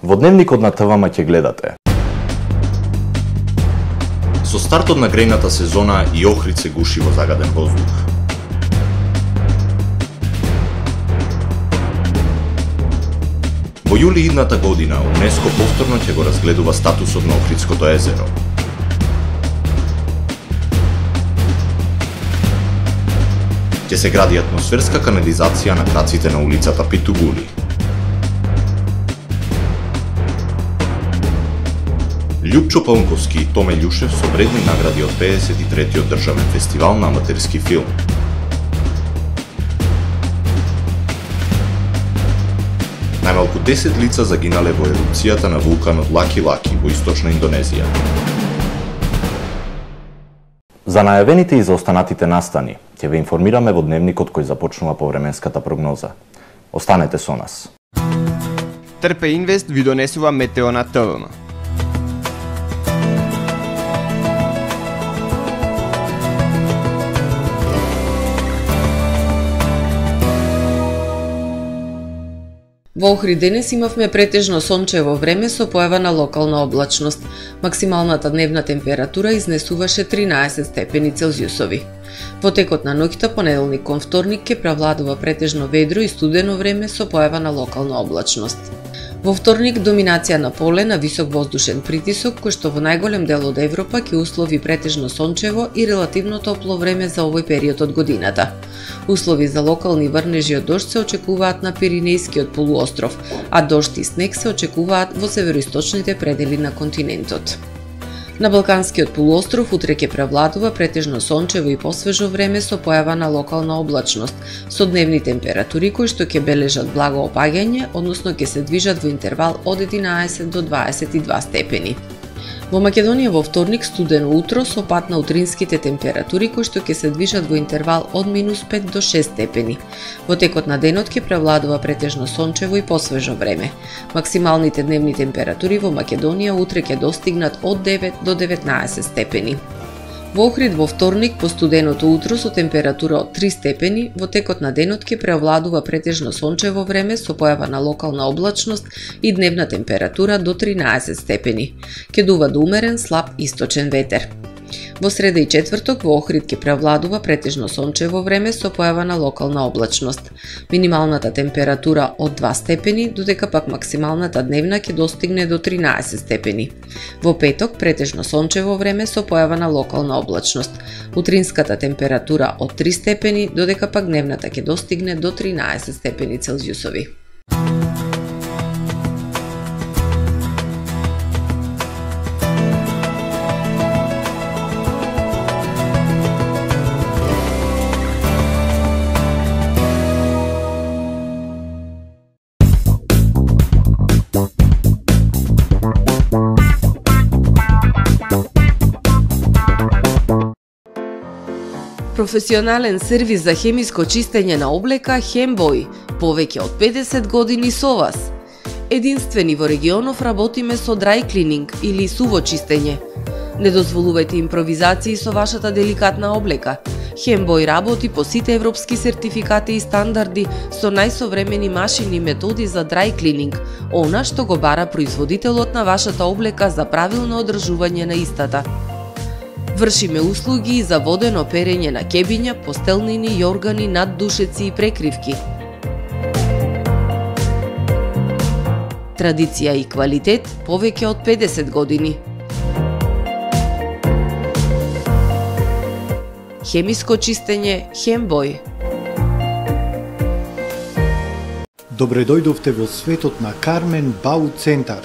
Во Дневникот на ТВМ ќе гледате. Со стартот на грејната сезона и Охрид се гуши во загаден воздух. Во јули идната година УНЕСКО повторно ќе го разгледува статусот на Охридското езеро. Ќе се гради атмосферска канализација на краците на улицата Питугули. Љупчо Паунковски и Томе Љушев со вредни награди од 53-тиот државен фестивал на аматерски филм. Најмалку 10 лица загинале во ерупцијата на вулканот Лаки-Лаки во источна Индонезија. За најавените и за останатите настани ќе ве информираме во Дневникот кој започнува по временската прогноза. Останете со нас. Трпе Инвест ви донесува метео на ТВМ. Во Охрид денес имавме претежно сончево време со појава на локална облачност. Максималната дневна температура изнесуваше 13 степени Целзиусови. Во текот на ноќта понеделник кон вторник ќе превладува претежно ведро и студено време со појава на локална облачност. Во вторник доминација на поле на висок воздушен притисок кој што во најголем дел од Европа ќе услови претежно сончево и релативно топло време за овој период од годината. Услови за локални врнежи од дожд се очекуваат на Пиринејскиот полуостров, а дожд и снег се очекуваат во североисточните предели на континентот. На Балканскиот полуостров утре ќе превладува претежно сончево и посвежо време со појава на локална облачност, со дневни температури кои што ќе бележат благо опаѓање, односно ќе се движат во интервал од 11 до 22 степени. Во Македонија во вторник студено утро со пад на утринските температури кои што ќе се движат во интервал од -5 до 6 степени. Во текот на денот ќе превладува претежно сончево и посвежо време. Максималните дневни температури во Македонија утре ќе достигнат од 9 до 19 степени. Во Охрид во вторник по студеното утро со температура од 3 степени, во текот на денот ќе преовладува претежно сончево време со појава на локална облачност и дневна температура до 13 степени. Ќе дува до умерен слаб источен ветер. Во среда и четврток во Охрид ќе превладува претежно сончево време со појава на локална облачност. Минималната температура од 2 степени, додека пак максималната дневна ќе достигне до 13 степени. Во петок претежно сончево време со појава на локална облачност. Утринската температура од 3 степени, додека пак дневната ќе достигне до 13 степени Целзиусови. Професионален сервис за хемиско чистење на облека Хембој, повеќе од 50 години со вас. Единствени во регионов работиме со dry cleaning или суво чистење. Не дозволувајте импровизации со вашата деликатна облека. Хембој работи по сите европски сертификати и стандарди со најсовремени машини и методи за dry cleaning, она што го бара производителот на вашата облека за правилно одржување на истата. Вршиме услуги за водено перење на кебиња, постелнини, јоргани, наддушеци и прекривки. Традиција и квалитет повеќе од 50 години. Хемиско чистење Хембој. Добре дојдовте во светот на Кармен Бау Центар.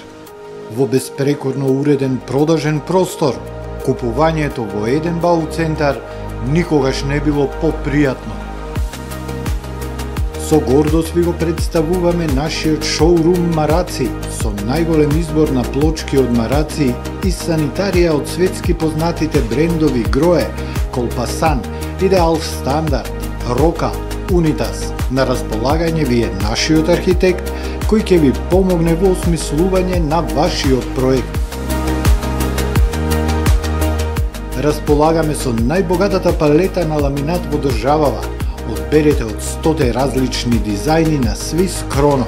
Во беспрекорно уреден продажен простор, купувањето во еден Бау Центар никогаш не било попријатно. Со гордост ви го представуваме нашиот шоурум Мараци со најголем избор на плочки од мараци и санитарија од светски познатите брендови Грое, Колпасан, Идеал Стандард, Рока, Унитас. На располагање ви е нашиот архитект кој ќе ви помогне во осмислување на вашиот проект. Располагаме со најбогатата палета на ламинат во државава. Одберете од 100 различни дизајни на Swiss Chrono.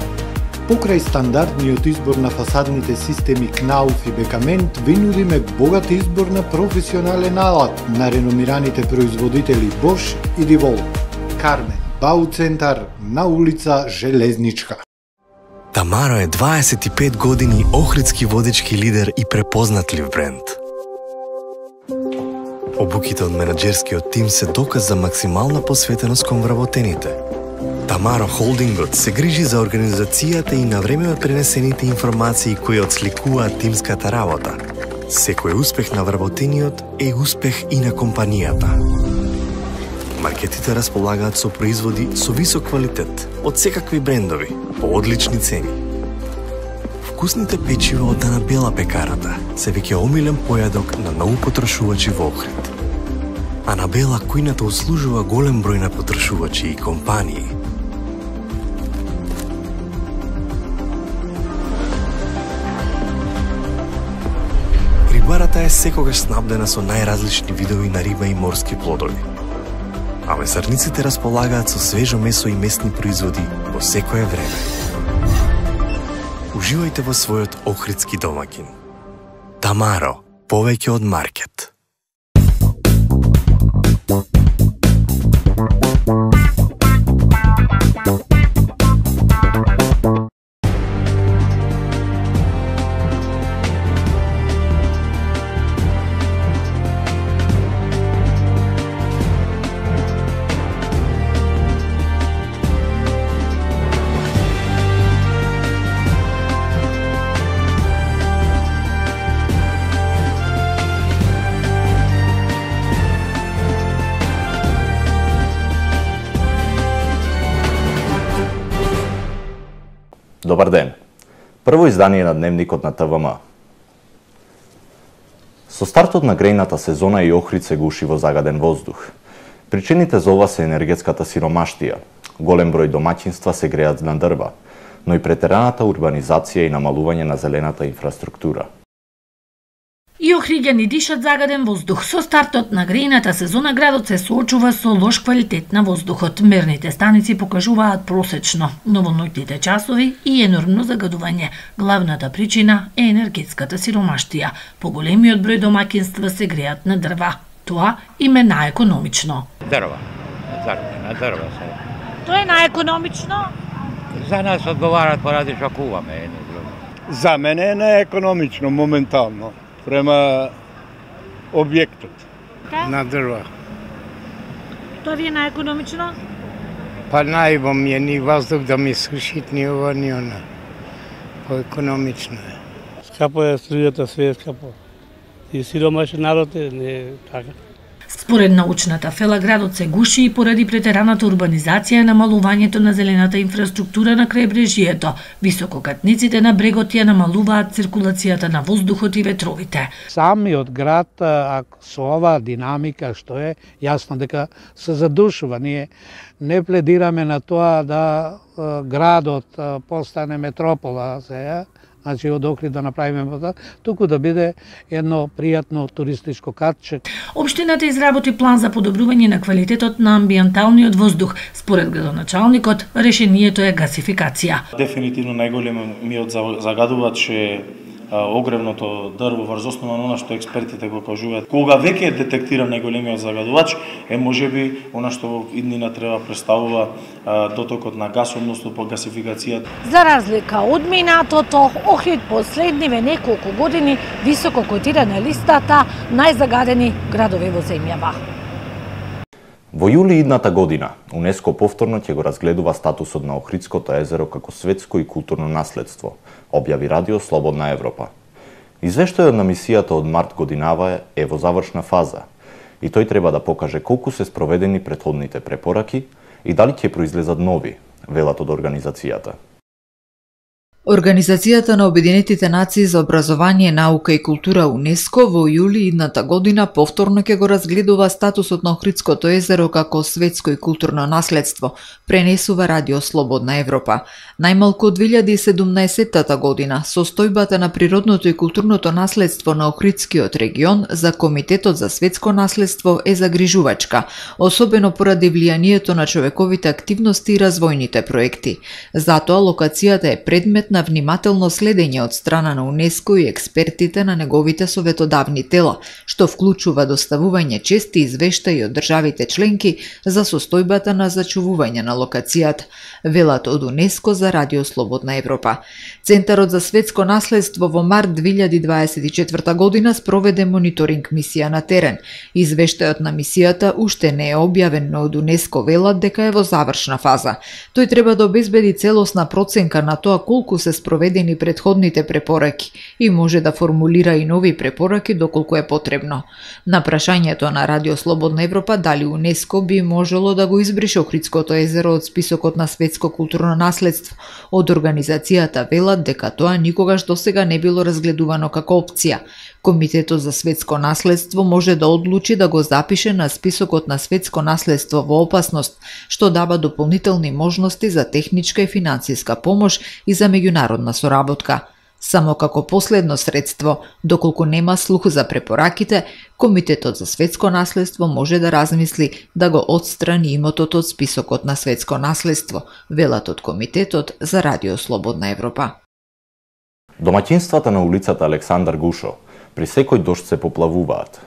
Покрај стандардниот избор на фасадните системи Knauf и Бекамент, ви нудиме богат избор на професионален алат на реномираните производители Bosch и DeWalt. Кармен, Бауцентар, на улица Железничка. Тамаро е 25 години охридски водечки лидер и препознатлив бренд. Обуките од менаџерскиот тим се доказ за максимална посветеност кон вработените. Тамаро Холдингот се грижи за организацијата и на време пренесените информации кои отсликуваат тимската работа. Секој успех на вработениот е успех и на компанијата. Маркетите располагаат со производи со висок квалитет од секакви брендови по одлични цени. Вкусните печива од Анабела пекарата се веќе омилен појадок на многу потрошувачи во Охрид. Анабела кујната услужува голем број на потрошувачи и компании. Рибарата е секогаш снабдена со најразлични видови на риба и морски плодови. А месарниците располагаат со свежо месо и местни производи во секое време. Уживајте во својот охридски домаќин. Тамаро, повеќе од маркет. Добар ден. Прво издание на Дневникот на ТВМ. Со стартот на грејната сезона и Охрид се гуши во загаден воздух. Причините за ова се енергетската сиромаштија. Голем број домаќинства се греат на дрва, но и претераната урбанизација и намалување на зелената инфраструктура. И охриѓани дишат загаден воздух. Со стартот на грејната сезона градот се соочува со лош квалитет на воздухот. Мерните станици покажуваат просечно, но во ноќните часови и енормно загадување. Главната причина е енергетската сиромаштија. Поголемиот број домаќинства се греат на дрва. Тоа им е наекономично. Дрва. На дрва се. Тоа е наекономично? За нас одговарат поради што куваме едно друго. За мене е неекономично моментално. Према објектот. На дрва. Тоа ви е наекономично? Па најбо ми е ни воздух да ми сушит ни ова ни она. Поекономично е. Скапо е струјата, све е скапо. И сиромашен народ е, не е така. Според научната фела, градот се гуши и поради претераната урбанизација и намалувањето на зелената инфраструктура на крајбрежјето. Висококатниците на брегот ја намалуваат циркулацијата на воздухот и ветровите. Самиот град, со оваа динамика што е, јасно дека се задушува. Ние не пледираме на тоа да градот постане метропола сега, значи од Охрид да направиме туку да биде едно пријатно туристичко катче. Општината изработи план за подобрување на квалитетот на амбиенталниот воздух. Според градоначалникот, решението е гасификација. Дефинитивно најголемиот загадувач е огревното дрво, врз основа на она што експертите го кажуваат. Кога веќе е детектиран најголемиот загадувач, е можеби она што во иднина треба представува дотокот на гас, односно по гасификацијата. За разлика од минатото, Охрид последниве неколку години високо котира на листата најзагадени градови во земјава. Во јули идната година, УНЕСКО повторно ќе го разгледува статусот на Охридското езеро како светско и културно наследство, објави Радио Слободна Европа. Извештајот на мисијата од март годинава е во завршна фаза и тој треба да покаже колку се спроведени претходните препораки и дали ќе произлезат нови, велат од организацијата. Организацијата на Обединетите нации за образование, наука и култура УНЕСКО во јули идната година повторно ќе го разгледува статусот на Охридското езеро како светско и културно наследство, пренесува Радио Слободна Европа. Најмалку од 2017 година состојбата на природното и културното наследство на Охридскиот регион за Комитетот за светско наследство е загрижувачка, особено поради влијанието на човековите активности и развојните проекти. Затоа локацијата е предмет на внимателно следење од страна на УНЕСКО и експертите на неговите советодавни тела, што вклучува доставување чести извештаи од државите членки за состојбата на зачувување на локацијата, велат од УНЕСКО за Радио Слободна Европа. Центарот за светско наследство во март 2024 година спроведе мониторинг мисија на терен. Извештајот на мисијата уште не е објавен, но од УНЕСКО велат дека е во завршна фаза. Тој треба да обезбеди целосна проценка на тоа колку се спроведени претходните препораки и може да формулира и нови препораки доколку е потребно. На прашањето на Радио Слободна Европа дали УНЕСКО би можело да го избрише Охридското езеро од списокот на светско културно наследство, од организацијата велат дека тоа никогаш досега не било разгледувано како опција. Комитетот за светско наследство може да одлучи да го запише на списокот на светско наследство во опасност, што дава дополнителни можности за техничка и финансиска помош и за меѓународна соработка. Само како последно средство, доколку нема слух за препораките, Комитетот за светско наследство може да размисли да го отстрани имотот од списокот на светско наследство, велат од Комитетот за Радио Слободна Европа. Домаќинствата на улицата Александар Гушо при секој дожд се поплавуваат.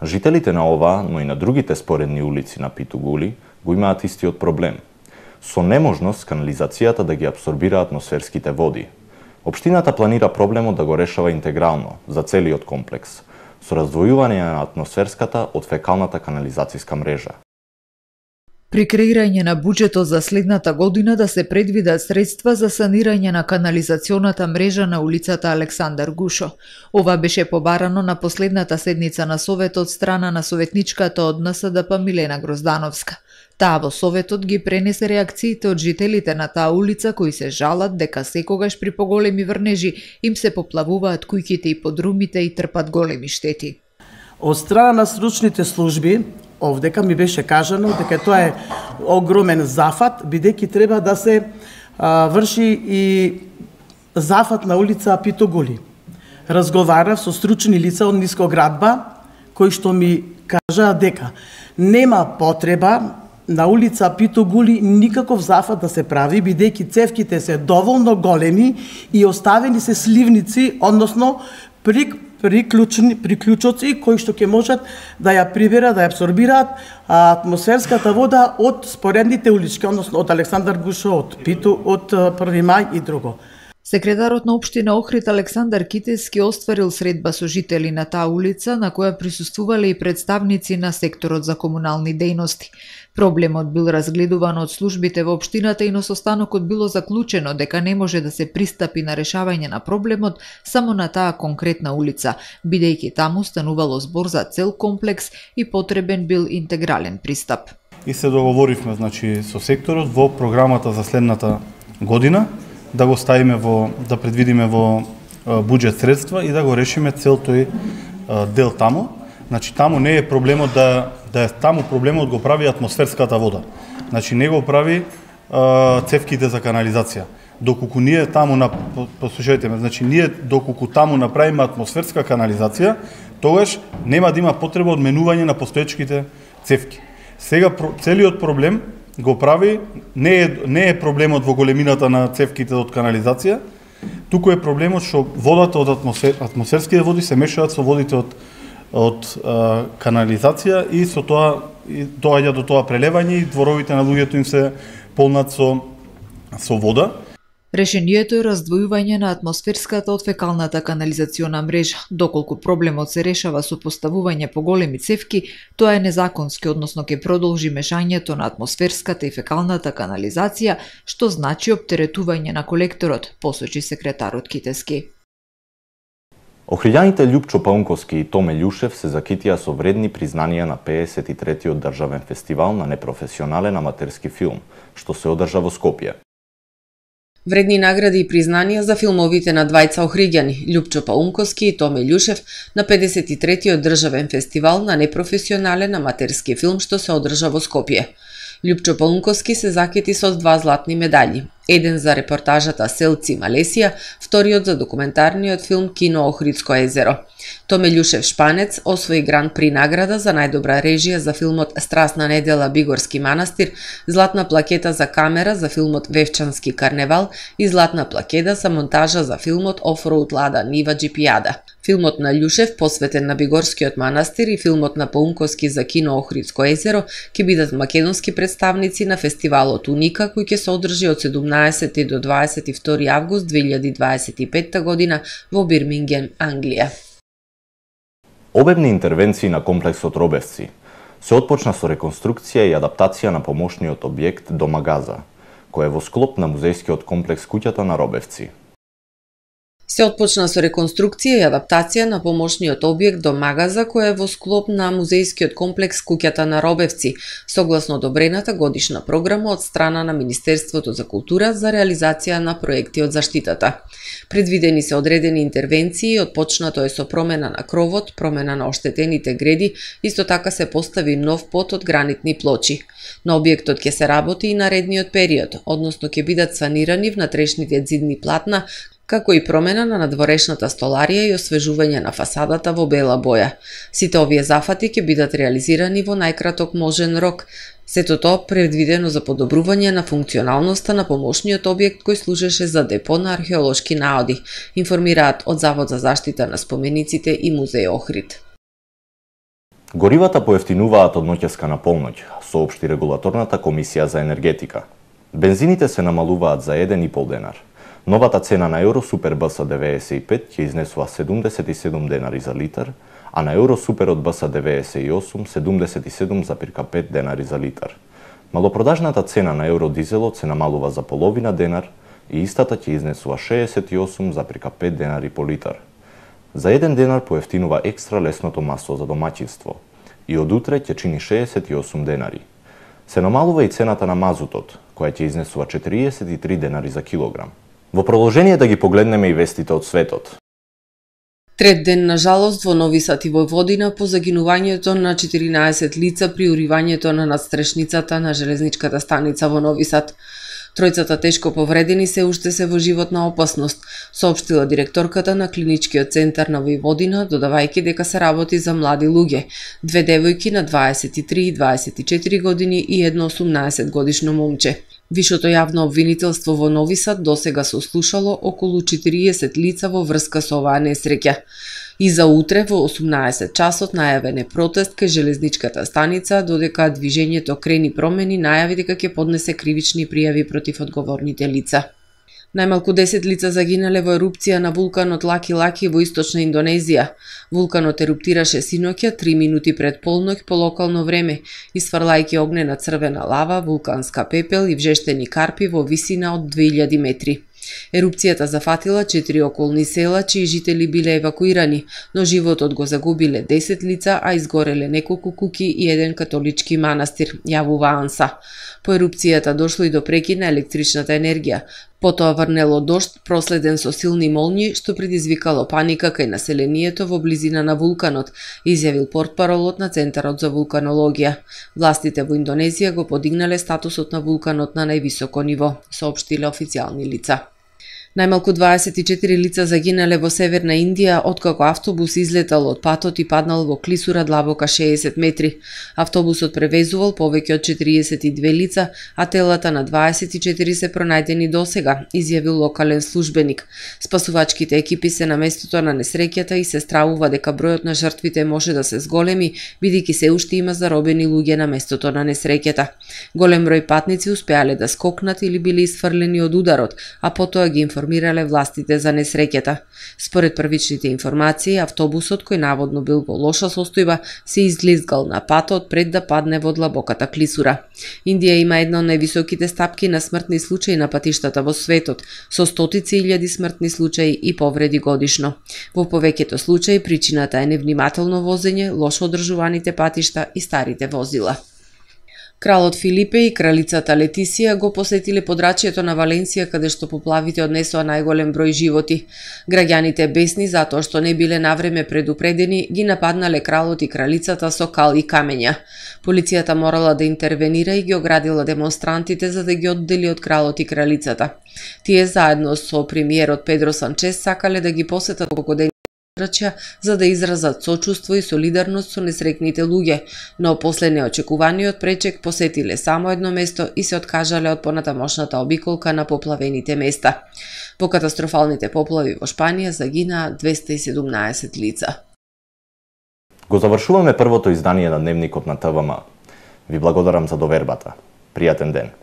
Жителите на ова, но и на другите споредни улици на Питугули го имаат истиот проблем. Со неможност канализацијата да ги абсорбира атмосферските води. Општината планира проблемот да го решава интегрално за целиот комплекс, со раздвојување на атмосферската од фекалната канализацијска мрежа. При креирање на буџетот за следната година да се предвидат средства за санирање на канализационата мрежа на улицата Александар Гушо. Ова беше побарано на последната седница на Советот од страна на советничката од НСДП Милена Гроздановска. Таа во Советот ги пренесе реакциите од жителите на таа улица кои се жалат дека секогаш при поголеми врнежи им се поплавуваат куќите и подрумите и трпат големи штети. Од страна на стручните служби, овдека ми беше кажано дека тоа е огромен зафат, бидејќи треба да се врши и зафат на улица Питугули. Разговарав со стручни лица од Нискоградба, кои што ми кажаа дека нема потреба на улица Питугули никаков зафат да се прави, бидејќи цевките се доволно големи и оставени се сливници, односно приклучоци кои што ќе можат да ја приберат, да ја абсорбираат атмосферската вода од споредните улички, односно од Александар Гушо, од Питу, од 1 мај и друго. Секретарот на општина Охрид Александар Китески остварил средба со жители на таа улица, на која присуствувале и представници на секторот за комунални дејности. Проблемот бил разгледуван од службите во општината и на состанокот било заклучено дека не може да се пристапи на решавање на проблемот само на таа конкретна улица, бидејќи таму станувало збор за цел комплекс и потребен бил интегрален пристап. И се договоривме, значи, со секторот во програмата за следната година да го ставиме да предвидиме во буџет средства и да го решиме цел тој дел таму. Значи таму не е проблемот да е таму, проблемот го прави атмосферската вода. Значи не го прави цевките за канализација. Доколку ние таму послушајте ме, значи ние доколку таму направиме атмосферска канализација, тогаш нема да има потреба од менување на постоечките цевки. Сега целиот проблем го прави не е проблемот во големината на цевките од канализација, туку е проблемот што водата од атмосферските води се мешаат со водите од канализација и со тоа доаѓа до тоа прелевање и дворовите на луѓето им се полнат со вода. Решението е раздвојување на атмосферската од фекалната канализациона мрежа. Доколку проблемот се решава со поставување поголеми цевки, тоа е незаконски, односно ќе продолжи мешањето на атмосферската и фекалната канализација, што значи оптеретување на колекторот, посочи секретарот Китески. Охриѓаните Љупчо Паунковски и Томе Љушев се закитија со вредни признанија на 53-тиот државен фестивал на непрофесионален аматерски филм, што се одржа во Скопје. Вредни награди и признанија за филмовите на двајца охриѓани, Љупчо Паунковски и Томе Љушев, на 53-тиот државен фестивал на непрофесионален аматерски филм што се одржа во Скопје. Љупчо Паунковски се закети со 2 златни медаљи. Еден за репортажата Селци Малесија, вториот за документарниот филм Кино Охридско езеро. Томе Љушев Шпанец освои гран при награда за најдобра режија за филмот Страсна недела Бигорски манастир, златна плакета за камера за филмот Вевчански карневал и златна плакета за монтажа за филмот Офроуд Лада Нива Джипијада. Филмот на Љушев, посветен на Бигорскиот манастир, и филмот на Паунковски за Кино Охридско езеро ќе бидат македонски представници на фестивалот Уника, кој ќе се одржи од 17 до 22 август 2025 година во Бирмингем, Англија. Обемни интервенции на комплексот Робевци се отпочна со реконструкција и адаптација на помошниот објект Дома Газа, кој е во склоп на музејскиот комплекс Куќата на Робевци. Се отпочна со реконструкција и адаптација на помошниот објект Дома Газа, кој е во склоп на музејскиот комплекс Куќата на Робевци, согласно одобрената годишна програма од страна на Министерството за култура за реализација на проекти од заштитата. Предвидени се одредени интервенции, отпочнато е со промена на кровот, промена на оштетените греди, исто така се постави нов пот од гранитни плочи. На објектот ќе се работи и наредниот период, односно ќе бидат санирани внатрешните ѕидни платна, како и промена на надворешната столарија и освежување на фасадата во бела боја. Сите овие зафати ќе бидат реализирани во најкраток можен рок, сето тоа предвидено за подобрување на функционалноста на помошниот објект кој служеше за депо на археолошки наоди, информираат од Завод за заштита на спомениците и Музеј Охрид. Горивата поевтинуваат од ноќеска на полноќ, соопшти регулаторната комисија за енергетика. Бензините се намалуваат за 1,5 денар. Новата цена на Евросупер БС 95 ќе изнесува 77 денари за литар, а на Евросуперот БС 98 77,5 денари за литар. Малопродажната цена на Евродизелот се намалува за половина денар и истата ќе изнесува 68,5 денари по литар. За 1 денар поевтинува екстра лесното масло за домаќинство и од утре ќе чини 68 денари. Се намалува и цената на мазутот, која ќе изнесува 43 денари за килограм. Во продолжение да ги погледнеме и вестите од светот. Трет ден на жалост во Нови Сад и Војводина по загинувањето на 14 лица при уривањето на надстрешницата на железничката станица во Нови Сад. Тројцата тешко повредени се уште се во животна опасност, соопштила директорката на клиничкиот центар на Војводина, додавајќи дека се работи за млади луѓе, 2 девојки на 23 и 24 години и едно 18 годишно момче. Вишото јавно обвинителство во Нови Сад досега се слушало околу 40 лица во врска со оваа несреќа. И за утре во 18 часот најавен е протест кај железничката станица, додека движењето Крени промени најави дека ќе поднесе кривични пријави против одговорните лица. Најмалку 10 лица загинале во ерупција на вулканот Лаки Лаки во источна Индонезија. Вулканот еруптираше синоќа 3 минути пред полноќ по локално време, isfрлајќи огнена црвена лава, вулканска пепел и вжештени карпи во висина од 2000 метри. Ерупцијата зафатила 4 околни села, чии жители биле евакуирани, но животот го загубиле 10 лица, а изгореле неколку куќи и еден католички манастир, јавува АНСА. По ерупцијата дошло и до прекид на електричната енергија. Потоа врнело дожд, проследен со силни молњи, што предизвикало паника кај населението во близина на вулканот, изјавил портпаролот на Центарот за вулканологија. Властите во Индонезија го подигнале статусот на вулканот на највисоко ниво, соопштиле официјални лица. Најмалку 24 лица загинале во северна Индија откако автобус излетал од патот и паднал во клисура длабока 60 метри. Автобусот превезувал повеќе од 42 лица, а телата на 24 се пронајдени досега, изјавил локален службеник. Спасувачките екипи се на местото на несреќата и се стравува дека бројот на жртвите може да се зголеми, бидејќи се уште има заробени луѓе на местото на несреќата. Голем број патници успеале да скокнат или биле исфрлени од ударот, а потоа ги информирале властите за несреќата. Според првичните информации, автобусот кој наводно бил во лоша состојба се излизгал на патот пред да падне во длабоката клисура. Индија има една од највисоките стапки на смртни случаи на патиштата во светот, со стотици илјади смртни случаи и повреди годишно. Во повеќето случаи причината е невнимателно возење, лошо одржуваните патишта и старите возила. Кралот Филипе и кралицата Летисија го посетиле подрачјето на Валенсија, каде што поплавите однесоа најголем број животи. Граѓаните бесни затоа што не биле навреме предупредени, ги нападнале кралот и кралицата со кал и камења. Полицијата морала да интервенира и ги оградила демонстрантите за да ги оддели од кралот и кралицата. Тие заедно со премиерот Педро Санчес сакале да ги посетатогоден за да изразат сочувство и солидарност со несрекните луѓе, но после неочекуваниот пречек посетиле само едно место и се откажале од понатамошната обиколка на поплавените места. Во катастрофалните поплави во Шпанија загинаа 217 лица. Го завршуваме првото издание на Дневникот на ТВМ. Ви благодарам за довербата. Пријатен ден.